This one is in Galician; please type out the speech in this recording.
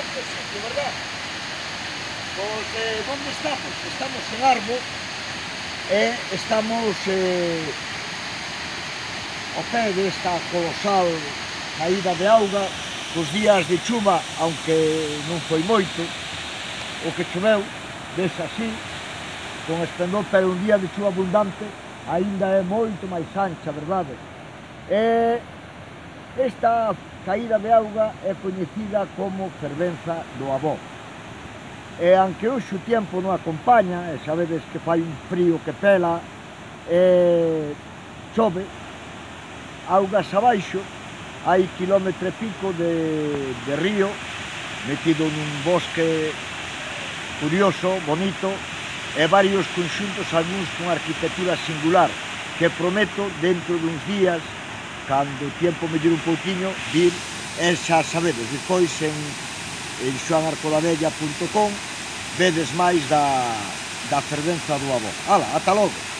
este sitio, verdad? Pois, onde estamos? Estamos en Arbo e estamos ao pé desta colosal caída de auga. Cos días de chuva, aunque non foi moito, o que choveu, ves así, con esplendor, pero un día de chuva abundante aínda é moito máis ancha, verdade? E esta caída de auga é coñecida como fervenza do Abó. E aunque hoxe o tempo non acompaña, e sabedes que fai un frío que pela, e chove, augas abaixo, hai quilómetro e pico de río metido nun bosque curioso, bonito, e varios conxuntos, algúns con arquitectura singular, que prometo dentro duns días, cando o tempo mellore un pouquiño, vir, e xa sabedes, despois en xoanarcolavella.com vedes máis da fervenza do Abó. Ala, ata logo!